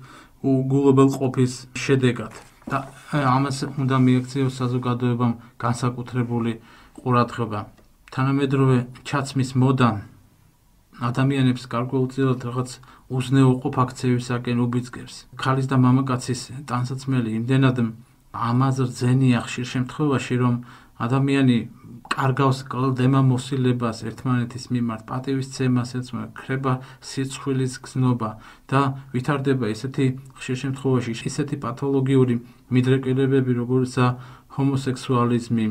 უგულობელ ყოფის შედეგად. და ამას უნდა მიექციოს საზოგადოებამ განსაკუთრებული ყურადღება. თანამედროვე ჩაცმის მოდა ადამიანებს გარკვეულწილად რაღაც უზნეოყოფ აქციებისაკენ უბიძგებს. ქალის და მამაკაცის ტანსაცმელი იმდენად ამაზე რძენია ხშირ შემთხვევაში, რომ ადამიანი კარგავს კლდემა მოსილებას ერთმანეთის მიმართ, პატივისცემას ეწევა, ქრება სიცხვილის გზნობა და ვითარდება ესეთი ხშირ შემთხვევაში ესეთი პათოლოგიური მიდრეკილებები, როგორიცაა ჰომოსექსუალიზმი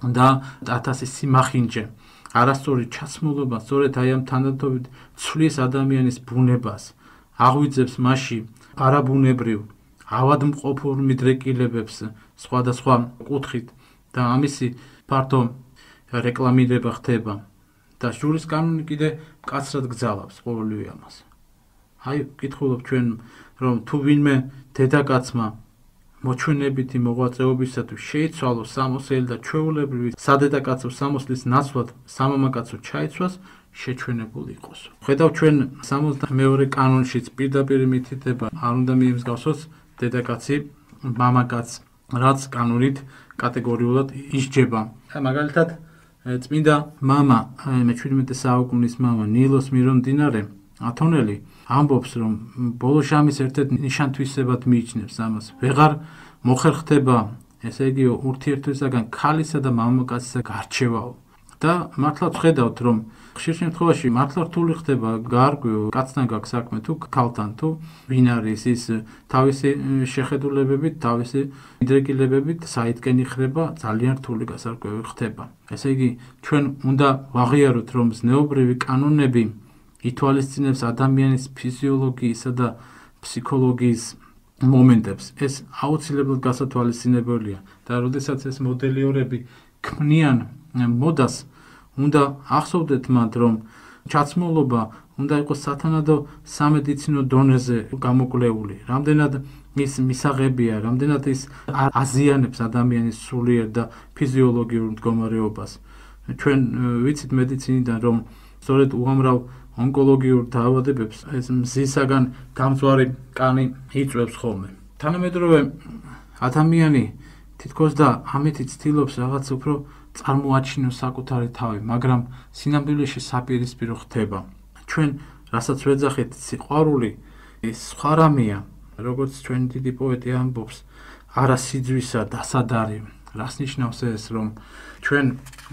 და ათასი სიმახინჯე. არასწორი ჩაცმულობა სწორედ აი ამ თანდათანობით ცვლის ადამიანის ბუნებას, აღვიძებს მასში არაბუნებრივ, ავადმყოფურ მიდრეკილებებს სხვადასხვა კუთხით და ამისი ფართო რეკლამირება ხდება და ჟურის კანონი კიდე მკაცრად გძალავს ყოველივე ამას. აი ვკითხულობ ჩვენ, რომ თუ ვინმე დედაკაცმა მოჩვენებითი მოღვაწეობისათვის შეიცვალოს სამოსელი და ჩვეულებრივი სადედაკაცო სამოსლის ნაცვლად სამამაკაცო ჩაიცვას, შეჩვენებული იყოს. ხედავ ჩვენ სამოცდამეორე კანონშიც პირდაპირ მითითება არ უნდა მიემსგავსოს დედაკაცი მამაკაცს, რაც კანონით კატეგორიულად ისჯება. მაგალითად, წმინდა მამა, მეჩვიდმეტე საუკუნის მამა ნილოს მირონდინარე ათონელი ამბობს, რომ ბოლო ჟამის ერთ-ერთ ნიშანთვისებად მიიჩნევს ამას. ვეღარ მოხერხდება, ესე იგი, ურთიერთობისაგან ქალისა და მამაკაცისა გარჩევაო. და მართლაც ხედავთ, რომ ხშირ შემთხვევაში მართლა რთული ხდება გარკვეულ კაცთან გაქვს საქმე თუ ქალთან, თუ ვინ არის ის თავისი შეხედულებებით, თავისი მიდრეკილებებით საითკენ იხრება, ძალიან რთული გასარკვევი ხდება. ესე იგი, ჩვენ უნდა ვაღიაროთ, რომ ზნეობრივი კანონები ითვალისწინებს ადამიანის ფიზიოლოგიისა და ფსიქოლოგიის მომენტებს. ეს აუცილებლად გასათვალისწინებელია და როდესაც ეს მოდელიორები ქმნიან მოდას, უნდა ახსოვდეთ მათ, რომ ჩაცმულობა უნდა იყოს სათანადო სამედიცინო დონეზე გამოკვლეული. რამდენად ის მისაღებია, რამდენად ის აზიანებს ადამიანის სულიერ და ფიზიოლოგიურ მდგომარეობას. ჩვენ ვიცით მედიცინიდან, რომ სწორედ უამრავ ონკოლოგიურ დაავადებებს ეს მზისაგან გამწვარი კანი იწვევს ხოლმე. თანამედროვე ადამიანი თითქოს და ამით ცდილობს რაღაც უფრო წარმოაჩინოს საკუთარი თავი, მაგრამ სინამდვილეში საპირისპირო ხდება. ჩვენ რასაც ვეძახით სიყვარული, ეს სხვა რამეა, როგორც ჩვენ დიდი პოეტი ამბობს, არა სიძვისა დასადარი. რას ნიშნავს ეს, რომ ჩვენ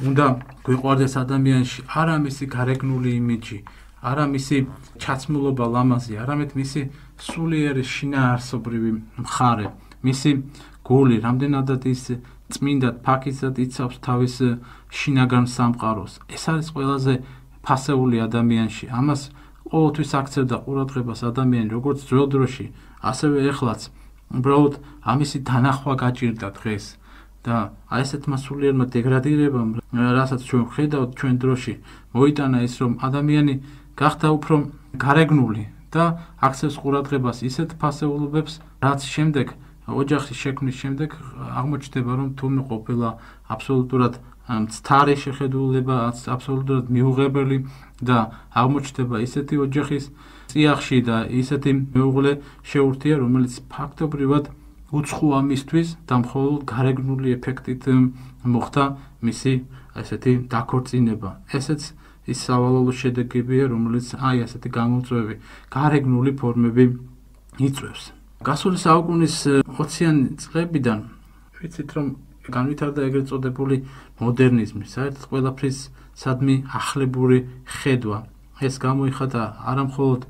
უნდა გვიყვარდეს ადამიანში არა მისი გარეგნული იმიჯი, არა მისი ჩაცმულობა ლამაზი, არამედ მისი სულიერი შინაარსობრივი მხარე, მისი გული, რამდენადაც ის წმინდად ფაქიზად იცავს თავის შინაგან სამყაროს. ეს არის ყველაზე ფასეული ადამიანში. ამას ყოველთვის აქცევდა ყურადღებას ადამიანი, როგორც ძველ დროში, ასევე ეხლაც. უბრალოდ ამისი დანახვა გაჭირდა დღეს. და აი ესეთმა სულიერმა დეგრადირებამ, რასაც ჩვენ ვხედავთ ჩვენ დროში, მოიტანა ის, რომ ადამიანი გახდა უფრო გარეგნული და აქცევს ყურადღებას ისეთ ფასეულობებს, რაც შემდეგ ოჯახის შექმნის შემდეგ აღმოჩნდება, რომ თუმე ყოფილა აბსოლუტურად მცდარი შეხედულება, აბსოლუტურად მიუღებელი და აღმოჩნდება ისეთი ოჯახის წიაღში და ისეთი მეუღლე შეურთია, რომელიც ფაქტობრივად უცხო ამისთვის და მხოლოდ გარეგნული ეფექტით მოხდა მისი ესეთი დაქორწინება. ესეც ის სავალალო შედეგებია, რომელიც აი ასეთი გამოწვევი გარეგნული ფორმები იწვევს. გასული საუკუნის ოციანი წლებიდან ვიცით, რომ განვითარდა ეგრეთ წოდებული მოდერნიზმი, საერთოდ ყველაფრის სადმი ახლებური ხედვა. ეს გამოიხატა არა მხოლოდ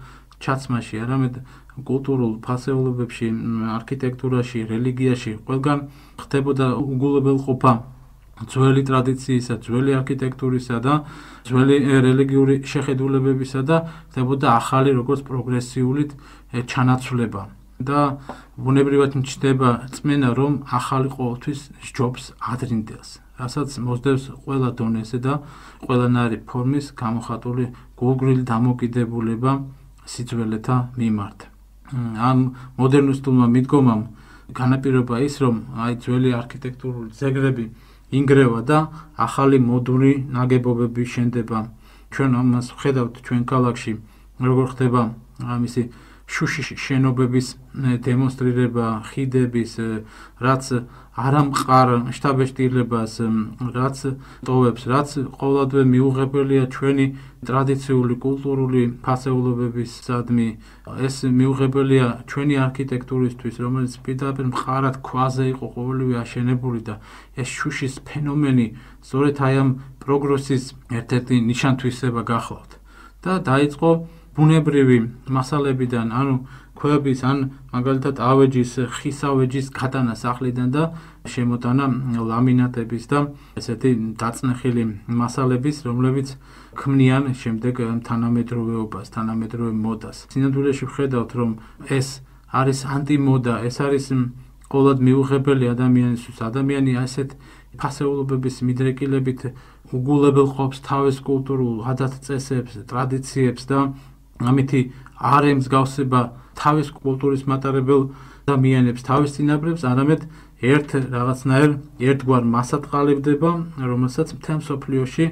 ჩაცმაში, არამედ კულტურულ ფასეულობებში, არქიტექტურაში, რელიგიაში, ყველგან ხდებოდა უგულებელყოფა ძველი ტრადიციისა, ძველი არქიტექტურისა და ძველი რელიგიური შეხედულებებისა და ხდებოდა ახალი როგორც პროგრესიული ჩანაცვლება. და ბუნებრივად მჩნდება წმენა, რომ ახალი ყოველთვის სჯობს ადრინდელს, რასაც მოსდევს ყველა დონეზე და ყველანაირი ფორმის გამოხატული გულგრილი დამოკიდებულება სიძველეთა მიმართ. ამ მოდერნისტულმა მიდგომამ განაპირობა ის, რომ აი ძველი არქიტექტურული ძეგლები ინგრევა და ახალი მოდული ნაგებობები შენდება. ჩვენ ამას ვხედავთ ჩვენ ქალაქში, როგორ ხდება ამისი შუშის შენობების დემონსტრირება, ხიდების, რაც არამყარ შთაბეჭდილებას, რაც ტოვებს, რაც ყოველადვე მიუღებელია ჩვენი ტრადიციული კულტურული ფასეულობების სადმი. ეს მიუღებელია ჩვენი არქიტექტურისთვის, რომელიც პირდაპირ მყარად ქვაზე იყო ყოველივე აშენებული და ეს შუშის ფენომენი სწორედ აი ამ პროგრესის ერთ-ერთი ნიშანთვისება გახლავთ. და დაიწყო ბუნებრივი მასალებიდან, ანუ ქვების, ან მაგალითად ავეჯის, ხის ავეჯის გატანა სახლიდან და შემოტანა ლამინატების და ესეთი დაწნეხილი მასალების, რომლებიც ქმნიან შემდეგ თანამედროვეობას, თანამედროვე მოდას. სინამდვილეში ვხედავთ, რომ ეს არის ანტიმოდა, ეს არის ყოველად მიუღებელი ადამიანისთვის. ადამიანი ასეთ ფასეულობების მიდრეკილებით უგულებელყოფს თავის კულტურულ ადათ-წესებს, ტრადიციებს და ამითი არ ემსგავსება თავის კულტურის მატარებელ ადამიანებს, თავის წინაპრებს, არამედ ერთ რაღაცნაირ ერთგვარ მასად ყალიბდება, რომელსაც მთელ მსოფლიოში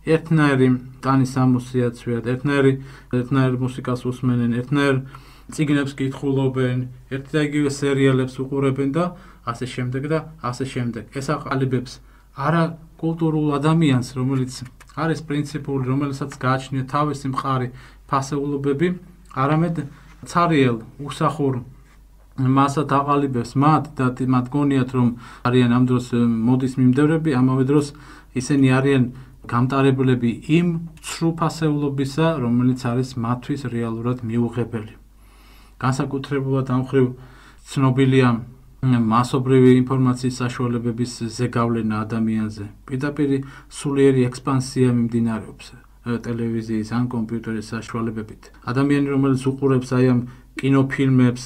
ერთნაირი ტანის ამოსიაცვიათ, ერთნაირი ერთნაირ მუსიკას უსმენენ, ერთნაირ წიგნებს კითხულობენ, ერთ და იგივე სერიალებს უყურებენ და ასე შემდეგ და ასე შემდეგ. ეს აყალიბებს არა კულტურულ ადამიანს, რომელიც არის პრინციპული, რომელსაც გააჩნია თავისი მყარი ფასეულობები, არამედ ცარიელ უსახურ მასად აყალიბებს მათ და მათ გონიათ, რომ არიან ამ დროს მოდის მიმდევრები, ამავე დროს ისინი არიან გამტარებლები იმ ცრუ ფასეულობისა, რომელიც არის მათთვის რეალურად მიუღებელი. განსაკუთრებულად ამ მხრივ ცნობილია მასობრივი ინფორმაციის საშუალებების ზეგავლენა ადამიანზე. პირდაპირ სულიერი ექსპანსია მიმდინარეობს ტელევიზიის ან კომპიუტერის საშუალებებით. ადამიანი, რომელიც უყურებს აი ამ კინოფილმებს,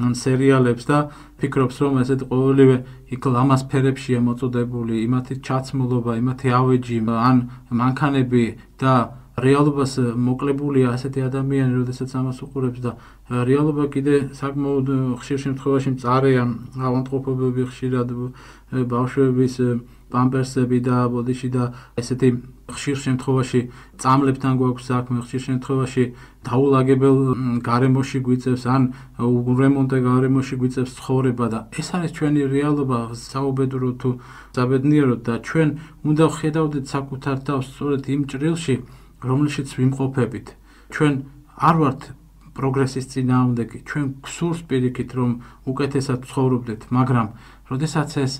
ან სერიალებს და ფიქრობს, რომ ესეთ ყოველივე იქ ლამასფერებშია მოწოდებული, იმათი ჩაცმულობა, იმათი ავეჯი, ან მანქანები და რეალობას მოკლებულია ასეთი ადამიანი, როდესაც ამას უყურებს და რეალობა კიდე საკმაოდ ხშირ შემთხვევაში მწარეა, ავადმყოფობები ხშირად ბავშვების პამპერსები და ბოდიში და ესეთი ხშირ შემთხვევაში წამლებთან გვაქვს საქმე, ხშირ შემთხვევაში დაულაგებელ გარემოში გვიწევს ან რემონტე გარემოში გვიწევს ცხოვრება და ეს არის ჩვენი რეალობა, საუბედურო თუ საბედნიეროდ და ჩვენ უნდა ვხედავდეთ საკუთარ თავს სწორედ იმ ჭრილში, რომელშიც ვიმყოფებით. ჩვენ არ ვართ პროგრესის წინააღმდეგი, ჩვენ გვსურს პირიქით, რომ უკეთესად ცხოვრობდეთ, მაგრამ როდესაც ეს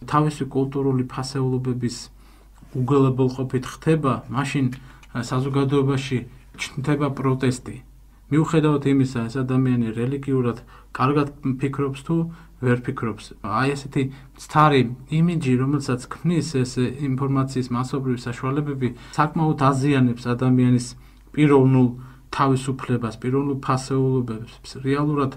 თავისი კულტურული ფასეულობების უგულებელყოფით ხდება, მაშინ საზოგადოებაში ჩნდება პროტესტი. მიუხედავად იმისა, ეს ადამიანი რელიგიურად კარგად ფიქრობს თუ ვერ ფიქრობს. Აი ესეთი მცდარი იმიჯი, რომელსაც ქმნის ეს ინფორმაციის მასობრივი საშუალებები, საკმაოდ აზიანებს ადამიანის პიროვნულ თავისუფლებას, პიროვნულ ფასეულობებს. რეალურად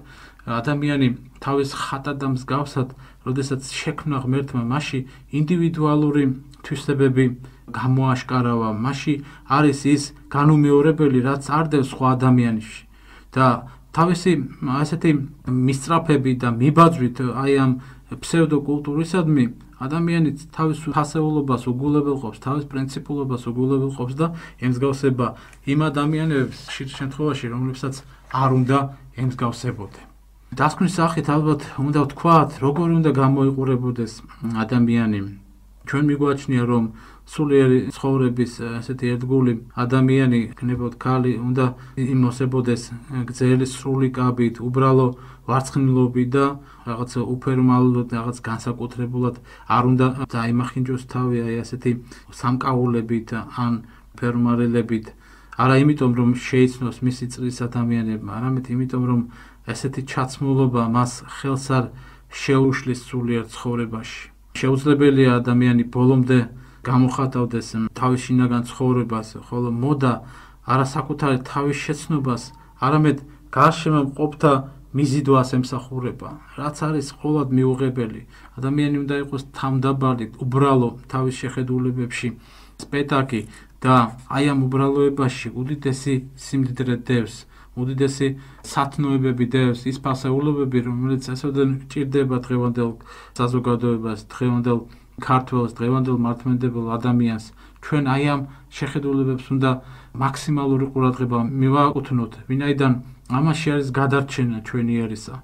ადამიანი თავის ხატად და მსგავსად, როდესაც შექმნა ღმერთმა, მასში ინდივიდუალური თვისებები გამოაშკარავა, მასში არის ის განუმეორებელი, რაც არ დევს სხვა ადამიანში. და თავისი ასეთი მისწრაფები და მიბაძვით აი ამ ფსევდოკულტურისადმი ადამიანიც თავის ფასეულობას უგულებელყოფს, თავის პრინციპულობას უგულებელყოფს და ემსგავსება იმ ადამიანებს ხშირ შემთხვევაში, რომლებსაც არ უნდა ემსგავსებოდე. დასკვნის სახით ალბათ უნდა ვთქვათ, როგორ უნდა გამოიყურებოდეს ადამიანი. ჩვენ მიგვაჩნია, რომ სულიერი ცხოვრების ასეთი ერთგული ადამიანი, გნებოდ ქალი, უნდა იმოსებოდეს გრძელი სრული კაბით, უბრალო ვარცხნილობით და რაღაც უფერმალოდ, რაღაც განსაკუთრებულად არ უნდა დაიმახინჯოს თავი აი ასეთი სამკაულებით ან ფერმარელებით. არა იმიტომ, რომ შეიცნოს მისი წრის ადამიანებმა, არამედ იმიტომ, რომ ესეთი ჩაცმულობა მას ხელს არ შეუშლის სულიერ ცხოვრებაში. შეუძლებელია ადამიანი ბოლომდე გამოხატავდეს თავის შინაგან ცხოვრებას, ხოლო მოდა არა საკუთარი თავის შეცნობას, არამედ გარშემო მყოფთა მიზიდვას ემსახურება, რაც არის ყოველად მიუღებელი. ადამიანი უნდა იყოს თავმდაბალი, უბრალო თავის შეხედულებებში, სპეტაკი და აი ამ უბრალოებაში უდიდესი სიმდიდრე დევს, უდიდესი სათნოებები დევს, ის ფასეულობები, რომელიც ასოდენ ჭირდება დღევანდელ საზოგადოებას, დღევანდელ ქართველს, დღევანდელ მართლმადიდებელ ადამიანს. ჩვენ აი ამ შეხედულებებს უნდა მაქსიმალური ყურადღება მივაკუთვნოთ, ვინაიდან ამაში არის გადარჩენა ჩვენი ერისა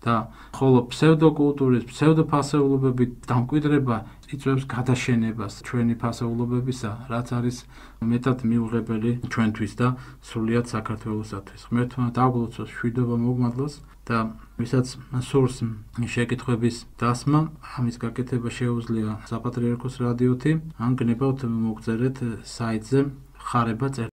და ხოლო ფსევდოკულტურის, ფსევდოფასეულობებით დამკვიდრება იწვევს გადაშენებას ჩვენი ფასეულობებისა, რაც არის მეტად მიუღებელი ჩვენთვის და სრულიად საქართველოსათვის. ღმერთმა დაგლოცოს მშვიდობა მოგმადლოს და ვისაც სურს შეკითხვების დასმა, ამის გაკეთება შეუძლია საპატრიარქოს რადიოთი, ან გნებავთ მოგწერეთ საიტზე ხარება.